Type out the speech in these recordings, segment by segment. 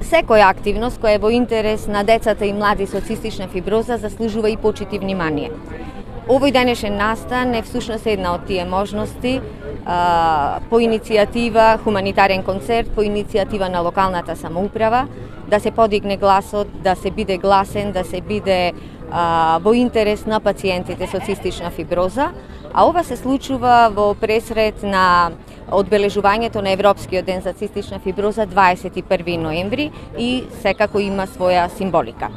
Секоја активност која е во интерес на децата и млади со цистична фиброза заслужува и почит и внимание. Овој денешен настан е всушност една од тие можности по иницијатива хуманитарен концерт, по иницијатива на локалната самоуправа, да се подигне гласот, да се биде гласен, да се биде во интерес на пациентите со цистична фиброза, а ова се случува во пресред на одбележувањето на Европскиот ден за цистична фиброза 21 ноември и секако има своја символика.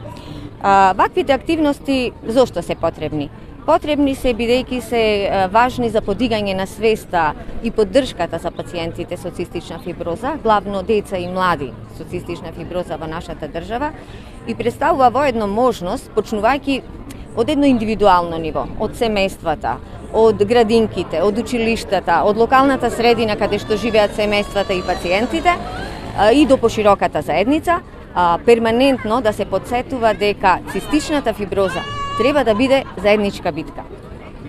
Ваквите активности зошто се потребни? Потребни се бидејќи се важни за подигање на свеста и поддршката за пациентите со цистична фиброза, главно деца и млади со цистична фиброза во нашата држава, и представува воедно можност, почнувајќи од едно индивидуално ниво, од семејствата, од градинките, од училиштата, од локалната средина каде што живеат семејствата и пациентите и до пошироката заедница, перманентно да се подсетува дека цистичната фиброза треба да биде заедничка битка.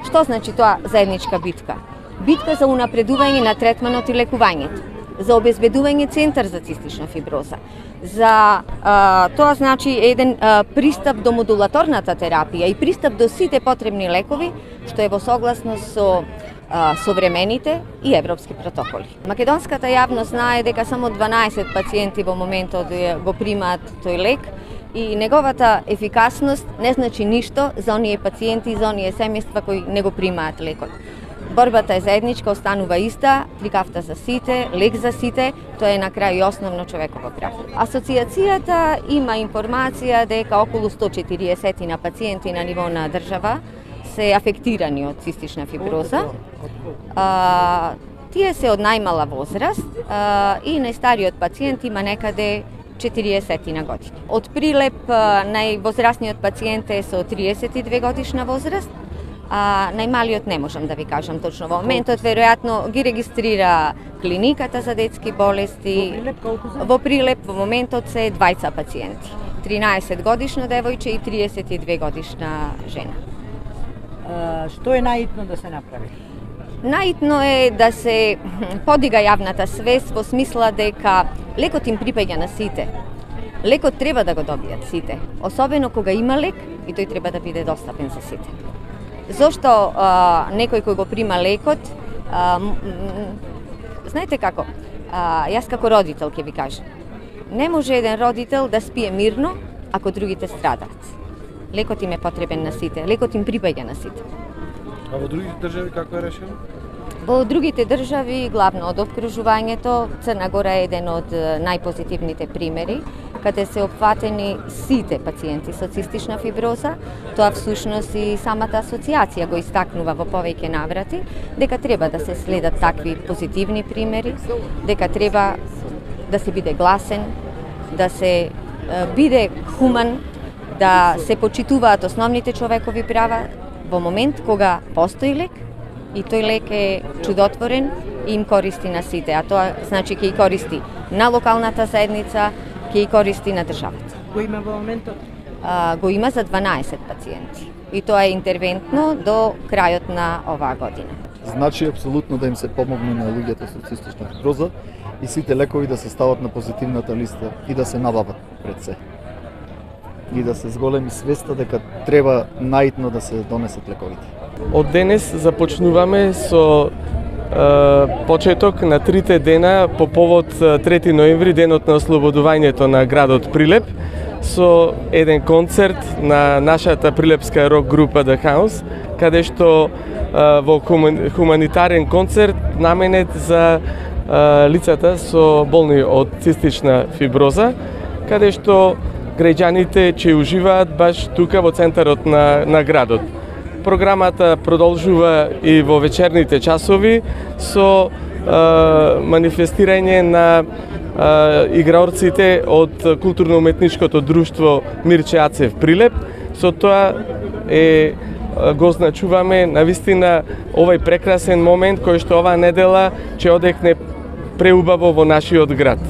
Што значи тоа заедничка битка? Битка за унапредување на третманот и лекувањето, за обезбедување центар за цистична фиброза, за тоа значи еден пристап до модулаторната терапија и пристап до сите потребни лекови, што е во согласност со современите и европски протоколи. Македонската јавност знае дека само 12 пациенти во моментот го примаат тој лек и неговата ефикасност не значи ништо за оние пациенти и за оние семејства кои не го примаат лекот. Борбата е заедничка, останува иста, трикавта за сите, лек за сите, тоа е на крај и основно човеково право. Асоциацијата има информација дека околу 140 на пациенти на ниво на држава се афектирани од цистична фиброза. Тие се од најмала возраст и најстариот пациент има некаде 40 на години. Од Прилеп највозрастниот пациент е со 32 годишна возраст, а најмалиот не можам да ви кажам точно во моментот, веројатно ги регистрира клиниката за детски болести. Во Прилеп во моментот се 20 пациенти, 13 годишно девојче и 32 годишна жена. Што е наитно да се направи? Наитно е да се подига јавната свест во смисла дека лекот им припаѓа на сите. Лекот треба да го добијат сите, особено кога има лек и тој треба да биде достапен за сите. Зошто некој кој го прима лекот, знаете како, јас како родител ќе ви кажам, не може еден родител да спие мирно ако другите страдаат. Лекот им е потребен на сите, лекот им припаѓа на сите. А во другите држави како е решено? Во другите држави, главно од опкружувањето, Црна Гора е еден од најпозитивните примери, каде се опфатени сите пациенти со цистична фиброза. Тоа всушност и самата асоциација го истакнува во повеќе наврати, дека треба да се следат такви позитивни примери, дека треба да се биде гласен, да се биде хуман, да се почитуваат основните човекови права во момент кога постои лек и тој лек е чудотворен и им користи на сите, а тоа значи ќе и користи на локалната заедница, ќе и користи на државата. Го има во моментот? Го има за 12 пациенти и тоа е интервентно до крајот на оваа година. Значи апсолутно да им се помогне на луѓето со цистична фиброза и сите лекови да се стават на позитивната листа и да се набават пред се. И да се зголеми свеста дека треба наитно да се донесат лековите. Од денес започнуваме со почеток на 3 дена по повод 3 ноември, денот на ослободувањето на градот Прилеп, со еден концерт на нашата прилепска рок група The House, каде што во хуманитарен концерт наменет за лицата со болни од цистична фиброза, каде што граѓаните ќе уживаат баш тука во центарот на градот. Програмата продолжува и во вечерните часови со манифестирање на играорците од културно-уметничкото друштво Мирче Ацев Прилеп. Со тоа го означуваме навистина овој прекрасен момент кој што оваа недела ќе одекне преубаво во нашиот град.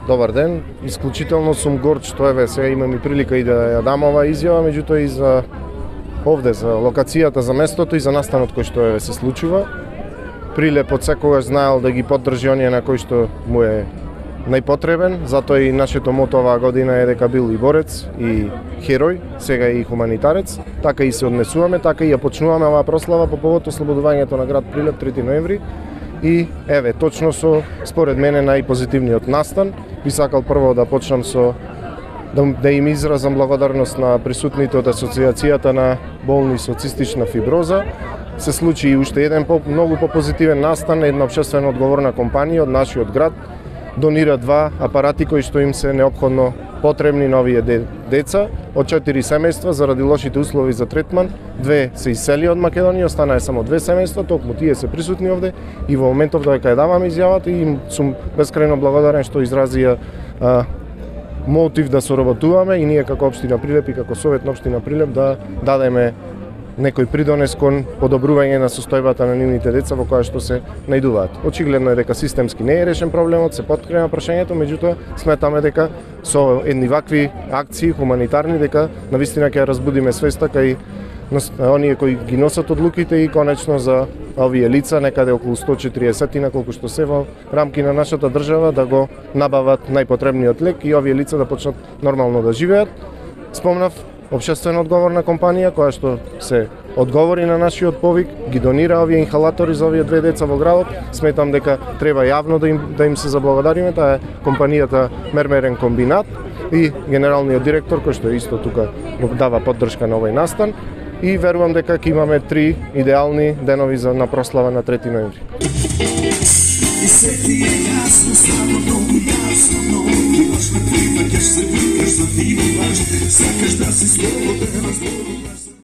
Добар ден, исклучително сум горд што сега имам и прилика и да ја дам оваа изјава, меѓутоа и за овде, за локацијата, за местото и за настанот кој што се случува. Прилеп од секогаш знаел да ги поддржи оние на кои што му е најпотребен, затоа и нашето мото оваа година е дека бил и борец, и херој, сега и хуманитарец, така и се однесуваме, така и ја почнуваме оваа прослава по повод ослободувањето на град Прилеп 3 ноември. И еве, точно со, според мене, најпозитивниот настан, би сакал прво да почнам со да им изразам благодарност на присутните од Асоциацијата на болни со цистична фиброза. Се случи и уште еден многу попозитивен настан, една општествено одговорна компанија од нашиот град донира 2 апарати кои што им се неопходно потребни на овие деца. Од 4 семејства заради лошите услови за третман, 2 се иселија од Македонија, останаа само 2 семејства, токму тие се присутни овде и во моментов дека ја давам изјавата и им сум бескрајно благодарен што изразија мотив да соработуваме и ние како општина Прилеп и како Совет на општина Прилеп да дадеме некој придонес кон подобрување на состојбата на нивните деца во која што се најдуваат. Очигледно е дека системски не е решен проблемот, се поткрема прашањето, меѓутоа сметаме дека со едни вакви акции хуманитарни дека навистина ќе разбудиме свеста кај оние кои ги носат одлуките и конечно за овие лица, некаде околу 140 колку што се во рамки на нашата држава, да го набават најпотребниот лек и овие лица да почнат нормално да живеат. Спомнав, општествено одговорна компанија која што се одговори на нашиот повик, ги донира овие инхалатори за овие 2 деца во градот. Сметам дека треба јавно да им се заблагодариме, таа е компанијата Мермерен комбинат и генералниот директор кој што исто тука го дава поддршка на овој настан. И верувам дека ќе имаме 3 идеални денови на прослава на 3 ноември. И се ти е јасно, ставно многу јасно, но имаш на ти, па ќе се викаш за ти, сакаш да си слободен,